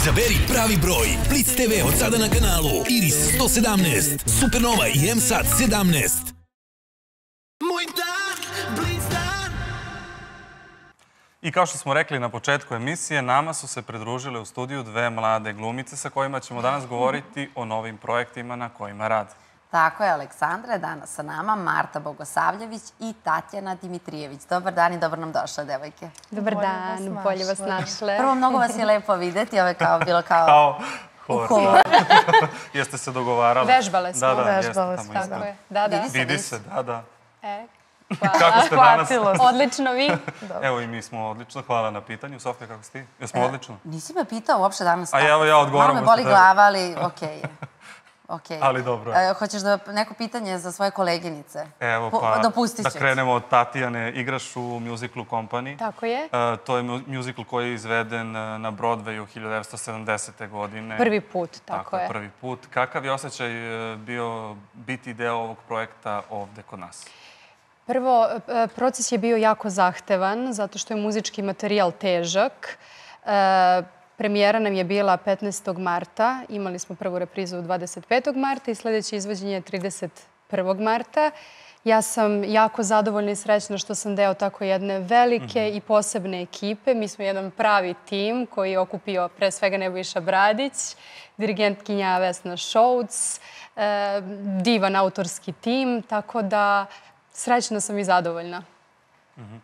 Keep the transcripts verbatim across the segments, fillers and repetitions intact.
Izaberi pravi broj. Blitz te ve od sada na kanalu Iris sto sedamnaest, Supernova i M SAT sedamnaest. Moj dan, Blitz dan. I kao što smo rekli na početku emisije, nama su se pridružile u studiju dve mlade glumice sa kojima ćemo danas govoriti o novim projektima na kojima rade. Tako je, Aleksandra je danas sa nama, Marta Bogosavljević i Tatjana Dimitrijević. Dobar dan i dobro nam došle, devojke. Dobar dan, bolje vas našle. Prvo, mnogo vas je lepo videti, ovo je kao bilo kao... Kao hor. Jeste se dogovarali? Vežbale smo. Da, da, Vežbale jeste smo. tamo ispred. Da, da. Vidi se, da, da. E, Kako ste danas? odlično, vi? Evo i mi smo odlično. Hvala na pitanju. Sofija, kako ste ti? Jesmo odlično? Nisi me pitao uopšte danas. A evo ja odgovaram. Malo me boli glava, ali okej je. Okej. Ali dobro je. Hoćeš da neko pitanje za svoje koleginice? Evo pa, Dopustit ću. da krenemo od Tatjane. Igraš u muziklu Company. Tako je. To je muzikl koji je izveden na Broadwayu hiljadu devetsto sedamdesete. godine. Prvi put, tako je. Tako je, prvi put. Kakav je osjećaj bio biti deo ovog projekta ovde kod nas? Prvo, proces je bio jako zahtevan, zato što je muzički materijal težak. Premijera nam je bila petnaestog marta, imali smo prvu reprizu dvadeset petog marta i sljedeće izvođenje je trideset prvog marta. Ja sam jako zadovoljna i srećna što sam deo tako jedne velike i posebne ekipe. Mi smo jedan pravi tim koji je okupio pre svega Nebojša Bradić, dirigentkinja Vesna Šouc, divan autorski tim, tako da srećna sam i zadovoljna.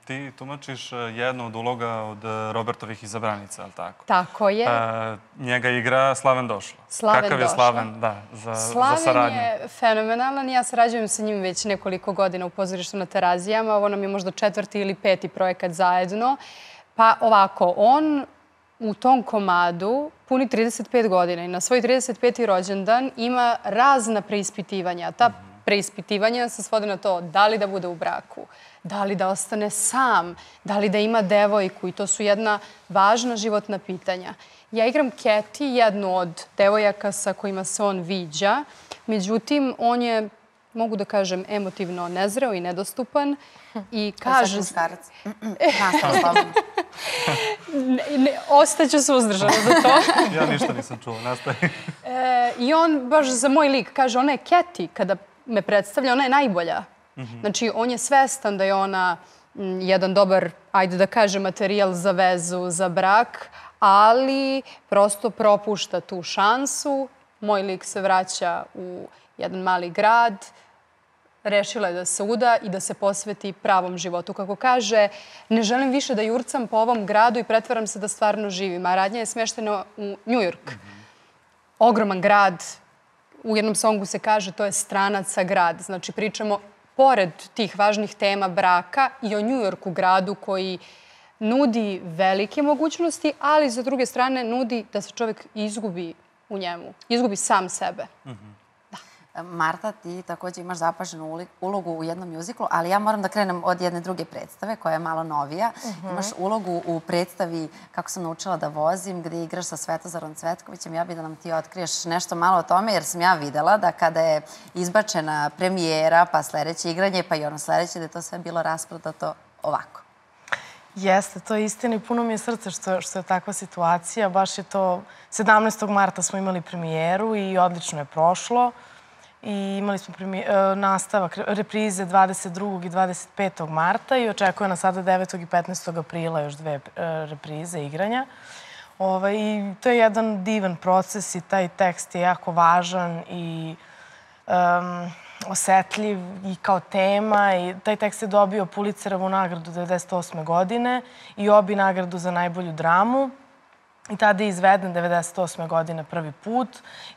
Ti tumačiš jednu od uloga od Robertovih Izabranica, ali tako? Tako je. Njega igra Slaven Došlo. Slaven Kakav je Slaven, da, za saradnju? Slaven je fenomenalan. Ja sarađujem sa njim već nekoliko godina u pozorištu na Terazijama. Ovo nam je možda četvrti ili peti projekat zajedno. Pa ovako, on u tom komadu puni trideset pet godina i na svoj trideset peti rođendan ima razna preispitivanja. Ta preispitivanja se svode na to da li da bude u braku, da li da ostane sam, da li da ima devojku i to su jedna važna životna pitanja. Ja igram Keti, jednu od devojaka sa kojima se on viđa, međutim, on je, mogu da kažem, emotivno nezreo i nedostupan i kaže... To je sad muškarac. Nastav slobodno. Ostaću suzdržana za to. Ja ništa nisam čuo, nastavi. I on, baš za moj lik, kaže, ona je Keti, kada me predstavlja, ona je najbolja. Znači, on je svestan da je ona jedan dobar, ajde da kažem, materijal za vezu, za brak, ali prosto propušta tu šansu. Moj lik se vraća u jedan mali grad, rešila je da se uda i da se posveti pravom životu. Kako kaže, ne želim više da jurcam po ovom gradu i pretvaram se da stvarno živim. A radnja je smeštena u Njujork. Ogroman grad. U jednom songu se kaže to je stranaca grad. Znači, pričamo pored tih važnih tema braka i o Njujorku gradu koji nudi velike mogućnosti, ali za druge strane nudi da se čovjek izgubi u njemu. Izgubi sam sebe. Marta, ti također imaš zapaženu ulogu u jednom mjuziklu, ali ja moram da krenem od jedne druge predstave koja je malo novija. Imaš ulogu u predstavi Kako sam naučila da vozim, gdje igraš sa Svetozarom Cvetkovićem. Ja bih da nam ti otkriješ nešto malo o tome, jer sam ja videla da kada je izbačena premijera, pa sljedeće igranje, pa i ono sljedeće, da je to sve bilo rasprodato ovako. Jeste, to je istina i puno mi je srce što je takva situacija. Baš je to, sedamnaestog marta smo imali premijeru i odlično je prošlo. I imali smo nastavak reprize dvadeset drugog i dvadeset petog marta i očekuje nas sada devetog i petnaestog aprila još dve reprize igranja. I to je jedan divan proces i taj tekst je jako važan i osetljiv i kao tema. Taj tekst je dobio Pulitzerovu nagradu devedeset osme. godine i Obi nagradu za najbolju dramu. I tada je izveden devedeset osme. godine prvi put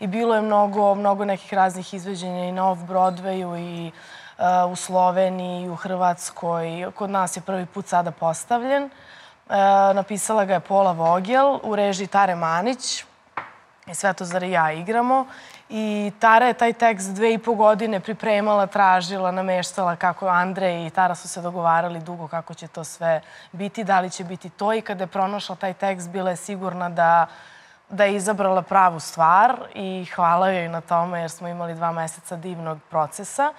i bilo je mnogo, mnogo nekih raznih izveđenja i na Off-Broadwayu i u Sloveniji i u Hrvatskoj. Kod nas je prvi put sada postavljen. Napisala ga je Pola Vogel u režiji Tare Manić i Svetozar i ja igramo. I Tara je taj tekst dve i po godine pripremala, tražila, nameštala kako Andrej i Tara su se dogovarali dugo kako će to sve biti, da li će biti to. I kada je pronašla taj tekst, bila je sigurna da, da je izabrala pravu stvar i hvala joj na tome jer smo imali dva meseca divnog procesa.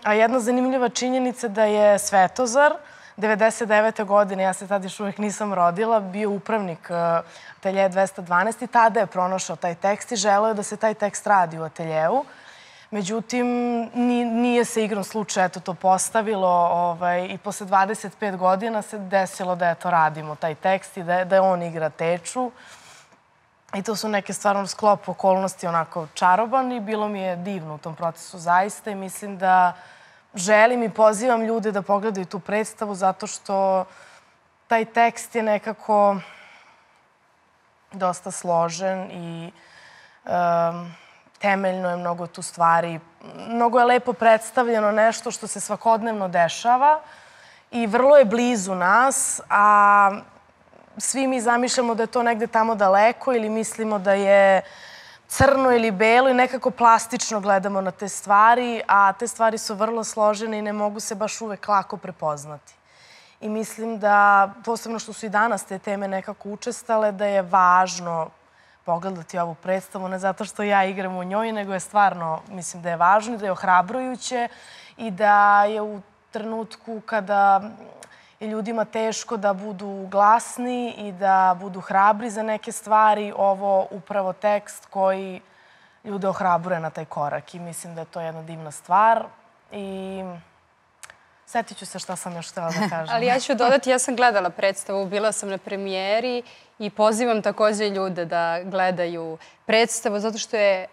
A jedna zanimljiva činjenica da je Svetozar devedeset devete. godine, ja se tad još uvijek nisam rodila, bio upravnik ateljeja dvesta dvanaest i tada je pronašao taj tekst i želeo da se taj tekst radi u ateljevu. Međutim, nije se igrom slučaja eto to postavilo i posle dvadeset pet godina se desilo da eto radimo taj tekst i da on igra Teču. I to su neke stvarno sklop okolnosti onako čaroban i bilo mi je divno u tom procesu zaista i mislim da želim i pozivam ljude da pogledaju tu predstavu zato što taj tekst je nekako dosta složen i temeljno je mnogo tu stvari. Mnogo je lepo predstavljeno nešto što se svakodnevno dešava i vrlo je blizu nas, a svi mi zamišljamo da je to negde tamo daleko ili mislimo da je crno ili belo i nekako plastično gledamo na te stvari, a te stvari su vrlo složene i ne mogu se baš uvek lako prepoznati. I mislim da, posebno što su i danas te teme nekako učestale, da je važno pogledati ovu predstavu, ne zato što ja igram u njoj, nego je stvarno, mislim da je važno i da je ohrabrujuće i da je u trenutku kada je ljudima teško da budu glasni i da budu hrabri za neke stvari, ovo upravo tekst koji ljude ohrabruje na taj korak i mislim da je to jedna divna stvar i setit ću se šta sam još htjela da kažem. Ali ja ću dodati, ja sam gledala predstavu, bila sam na premijeri i pozivam također ljude da gledaju predstavu zato što je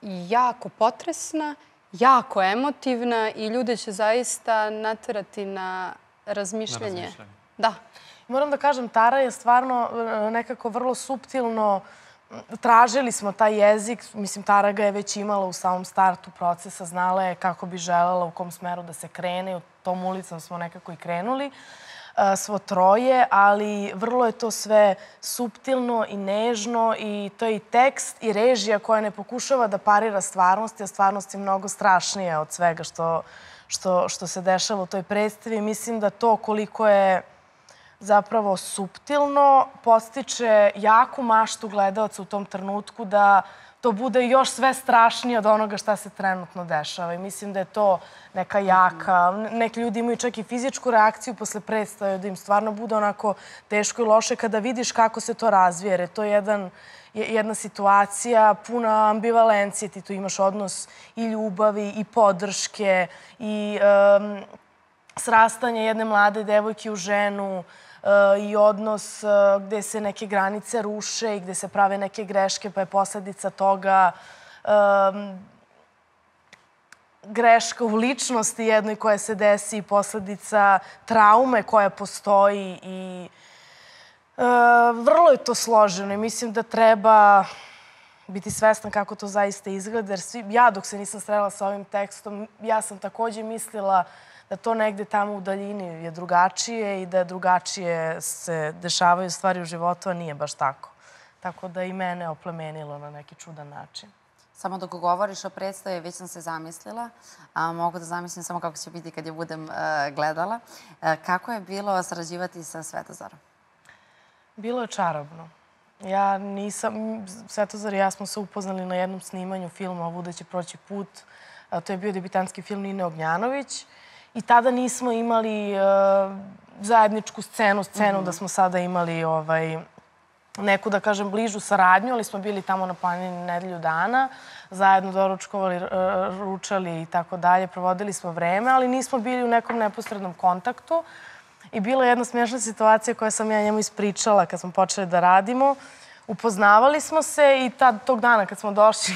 jako potresna, jako emotivna i ljude će zaista naterati na razmišljanje. Da. Moram da kažem, Tara je stvarno nekako vrlo suptilno, tražili smo taj jezik, mislim, Tara ga je već imala u samom startu procesa, znala je kako bi želela, u kom smeru da se krene i u tom ulicom smo nekako i krenuli, svo troje, ali vrlo je to sve suptilno i nežno i to je i tekst i režija koja ne pokušava da parira stvarnosti, a stvarnost je mnogo strašnija od svega što što se dešava u toj predstavi. Mislim da to koliko je zapravo suptilno podstiče jaku maštu gledalca u tom trenutku da to bude još sve strašnije od onoga šta se trenutno dešava. I mislim da je to neka jaka... Neki ljudi imaju čak i fizičku reakciju posle predstave, da im stvarno bude onako teško i loše kada vidiš kako se to razvije. Jer je to jedan jedna situacija puna ambivalencije. Ti tu imaš odnos i ljubavi, i podrške, i srastanje jedne mlade devojke u ženu, i odnos gde se neke granice ruše i gde se prave neke greške, pa je posledica toga greška u ličnosti jednoj koja se desi, posledica traume koja postoji i vrlo je to složeno i mislim da treba biti svestan kako to zaista izgleda. Jer ja dok se nisam srela sa ovim tekstom, ja sam također mislila da to negde tamo u daljini je drugačije i da drugačije se dešavaju stvari u životu, a nije baš tako. Tako da i mene oplemenilo na neki čudan način. Samo dok govoriš o predstavi, već sam se zamislila, a mogu da zamislim samo kako će biti kad je budem gledala. Kako je bilo sarađivati sa Svetozarom? Bilo je čarobno. Ja nisam... Svetozar i ja smo se upoznali na jednom snimanju filma Vuda će proći put. To je bio debitanski film Nine Ognjanović. I tada nismo imali zajedničku scenu, scenu da smo sada imali neku, da kažem, bližu saradnju, ali smo bili tamo na planini nedelju dana, zajedno doručkovali, ručali i tako dalje, provodili smo vreme, ali nismo bili u nekom neposrednom kontaktu. I bila je jedna smiješna situacija koja sam ja njemu ispričala kad smo počeli da radimo. Upoznavali smo se i tog dana kad smo došli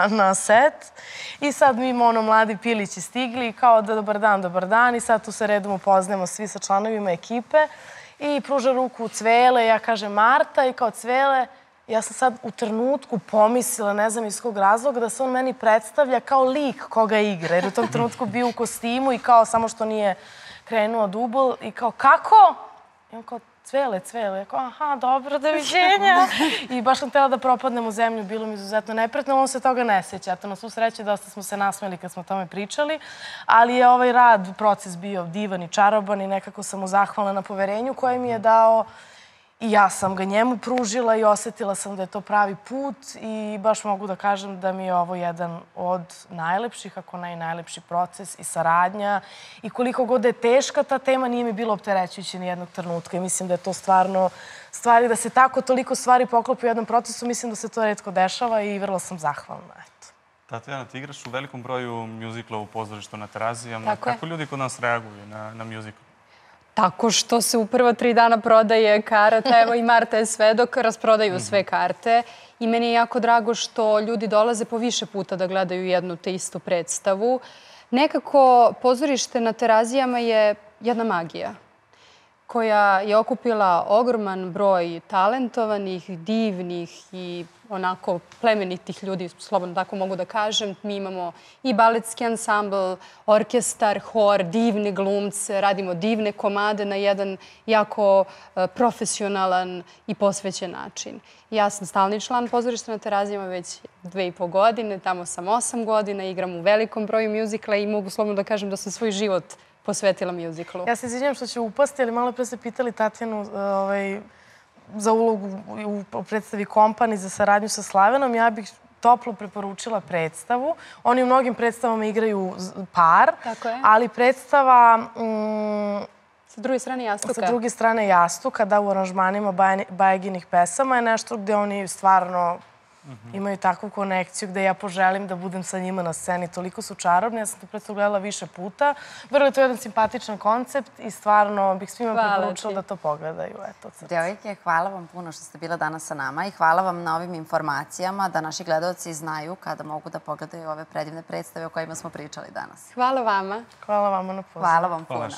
na set i sad mi imamo ono mladi pilići stigli kao da dobar dan, dobar dan i sad tu se redom upoznajemo svi sa članovima ekipe i pruža ruku Cvele, ja kažem Marta i kao Cvele, ja sam sad u trenutku pomislila, ne znam iz kog razloga, da se on meni predstavlja kao lik koga igra jer u tom trenutku bio u kostimu i kao samo što nije krenuo dubl i kao kako? I on kao Cvele, Cvele. Ja kao, aha, dobro, doviđenja. I baš sam htjela da propadnem u zemlju, bilo mi izuzetno neprijatno, on se toga ne sjeća. Eto, na svu sreću, dosta smo se nasmeli kad smo o tome pričali, ali je ovaj rad, proces bio divan i čaroban i nekako sam mu zahvalna na poverenju koje mi je dao I ja sam ga njemu pružila i osetila sam da je to pravi put i baš mogu da kažem da mi je ovo jedan od najlepših, ako ne i najlepši proces i saradnja. I koliko god je teška ta tema, nije mi bilo opterećujuće ni jednog trenutka. I mislim da je to stvarno stvari, da se tako toliko stvari poklopi u jednom procesu, mislim da se to retko dešava i vrlo sam zahvalna. Tatjana, ti igraš u velikom broju mjuzikla u pozorištu na Terazijama. Kako ljudi kod nas reaguju na mjuzikl? Tako što se u prva tri dana prodaje karata, evo i Marta je svedok, rasprodaju sve karte. I meni je jako drago što ljudi dolaze po više puta da gledaju jednu te istu predstavu. Nekako pozorište na Terazijama je jedna magija koja je okupila ogroman broj talentovanih, divnih i onako plemenitih ljudi, slobodno tako mogu da kažem. Mi imamo i baletski ansambl, orkestar, hor, divne glumce, radimo divne komade na jedan jako profesionalan i posvećen način. Ja sam stalni član pozorišta na Terazijama već dve i po godine, tamo sam osam godina, igram u velikom broju mjuzikla i mogu slobodno da kažem da sam svoj život posvetila mjuziklu. Ja se izvinjam što ću upasti, ali malo pre ste pitali Tatjanu za ulogu u predstavi Kompani za saradnju sa Slavenom. Ja bih toplo preporučila predstavu. Oni u mnogim predstavama igraju par, ali predstava sa druge strane jastuka. Sa druge strane jastuka, da, u aranžmanima Bajaginih pesama je nešto gde oni stvarno imaju takvu konekciju gde ja poželim da budem sa njima na sceni. Toliko su čarobni. Ja sam to predstavu gledala više puta. Vrlo je to jedan simpatičan koncept i stvarno bih svima preporučila da to pogledaju. Devojke, hvala vam puno što ste bila danas sa nama i hvala vam na ovim informacijama da naši gledalci znaju kada mogu da pogledaju ove predivne predstave o kojima smo pričali danas. Hvala vama. Hvala vama na pozivu. Hvala vam puno.